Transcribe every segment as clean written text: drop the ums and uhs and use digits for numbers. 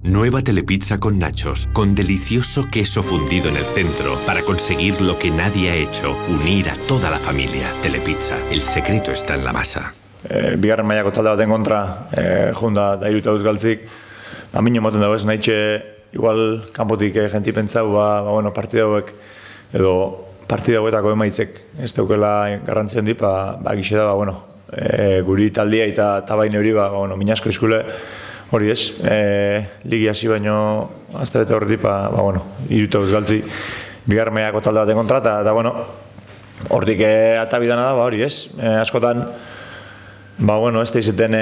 Nueva telepizza con nachos, con delicioso queso fundido en el centro para conseguir lo que nadie ha hecho, unir a toda la familia. Telepizza, el secreto está en la masa. Bigarren mailako talde baten kontra, junda da hiru tauz galtzik, amine moten dago ez nahitxe, igual kanpotik jenti pentsau, bueno, partida hauek, edo partida hauetako emaitzek ez daukela garrantzien di, gixe da, bueno, guri taldia eta baina hori, bueno, minasko izkule, hori ez, ligi hasi baino azte bete horretik, bueno, hiru tauz galtzi, bigarren mailako talde baten kontra, eta bueno, hortik atabidana da, hori ez, askotan, bueno, ez da izaten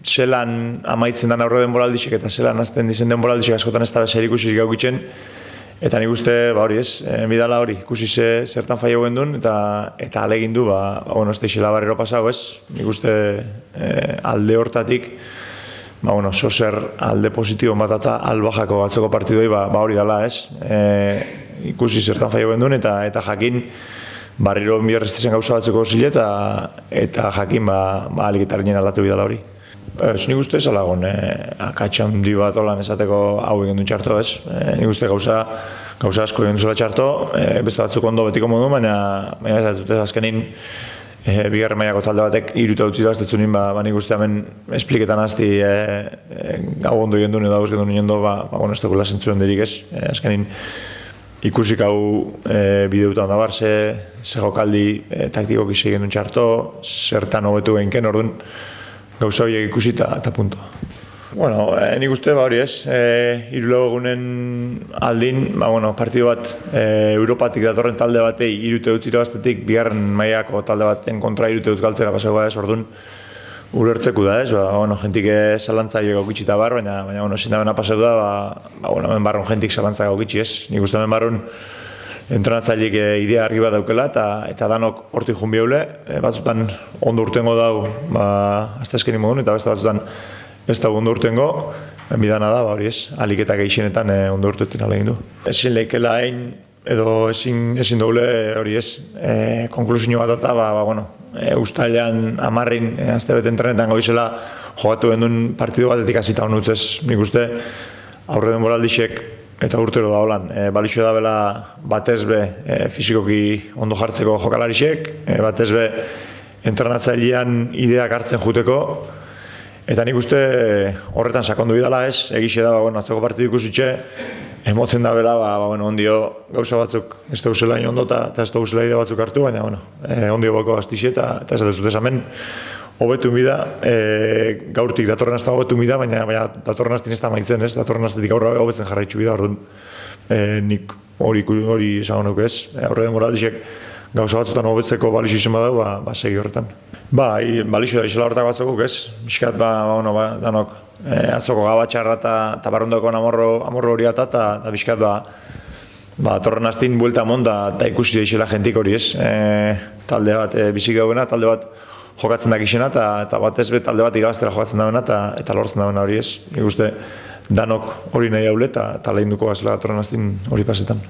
zelan amaitzen den aurre denboraldixek eta zelan azten dizen denboraldixek askotan ez da bezair ikusiz gaukitzen, eta nik uste, hori ez, bidala hori, ikusi zertan faia guen duen, eta alegin du, bueno, ez da izela barrero pasau ez, nik uste alde hortatik, bueno, zozer alde positibo bat eta albajako batzeko partidoi, hori dala ez, ikusi zertan faia guen duen, eta jakin, barriro biarrestezen gauza batzeko zile eta jakin aliketaren aldatu bidala hori. Ez nik uste ez alagon, akatxan di bat olan esateko hau egin duen txarto ez. Nik uste gauza asko egin duzuela txarto, beste batzuk ondo betiko modu, baina ez dut ez azkenin bigarren mailako talde batek hiru eta utzi daztetzu nien, nik uste hemen espliketan azti gau ondo egin duen edo hauz egin duen bueno, ez dugu lasentzuen derik ez, azkenin ikusik hau bideutan dabar, ze jokaldi taktikoki segin duen txarto, zertan hobetu behinken, orduan gauza horiek ikusi eta punto. Bueno, nik uste hori ez, hiru egunen aldin, bueno, partidu bat Europatik datorren talde batei hiru eta utzi irabaztetik, bigarren mailako talde baten kontra hiru eta utz galtzera pasako ez, orduan ulertzeku da ez, bueno, jentik zalantzaile gaukitxita bar, baina, bueno, zindabena pasau da, bueno, hemen barron jentik zalantza gaukitxi ez. Nik uste hemen barron entrenatzaileek idea argi bat daukela, eta danok hortik jun bihaule, batzutan ondo urtengo dau, azte eskenin modun, eta beste batzutan ez da ondo urtengo, bidana da, hori ez, aliketak eixenetan ondo urteetan alegin du. Ezin lehikela hain, edo ezin doble hori ez, konklusio bat eta, bueno, ustailean amarrin azte bete entrenetan goizela jogatu gendun partidu batetik hasita honutz ez, nik uste aurre denboraldixek eta urtero da holan, balixo da bela batezbe fizikoki ondo jartzeko jokalarixek, batezbe entrenatzailean ideak hartzen juteko, eta nik uste horretan sakondu bidala ez, egixe da, bueno, atzoko partidu ikusitxe, emotzen da bela, bueno, ondio gauza batzuk ez da usela ondo eta ez da usela ide batzuk hartu, baina, bueno, ondio bako gaztixe eta ez da zut esamen hobetu mida, gaurtik datorren azta hobetu mida, baina datorren aztin ez da maitzen ez, datorren aztetik aurra hobetzen jarraitzu bida, orduan nik hori esan honuk ez, aurre demoraldixek gauza batzutan hobetzeko balixo izan badau, segi horretan. Balixo da izela horretak batzukuk ez, miskat, danok atzoko gabatxarra eta barrundako amorro hori eta bizkat torren aztin buelta monda eta ikusi da izela jentik hori ez. Talde bat bizik daugena, talde bat jokatzen dakixena eta batez be talde bat irabaztera jokatzen dagoena eta lortzen dagoena hori ez. Nik uste danok hori nahi haule eta lehin duko gazela torren aztin hori pasetan.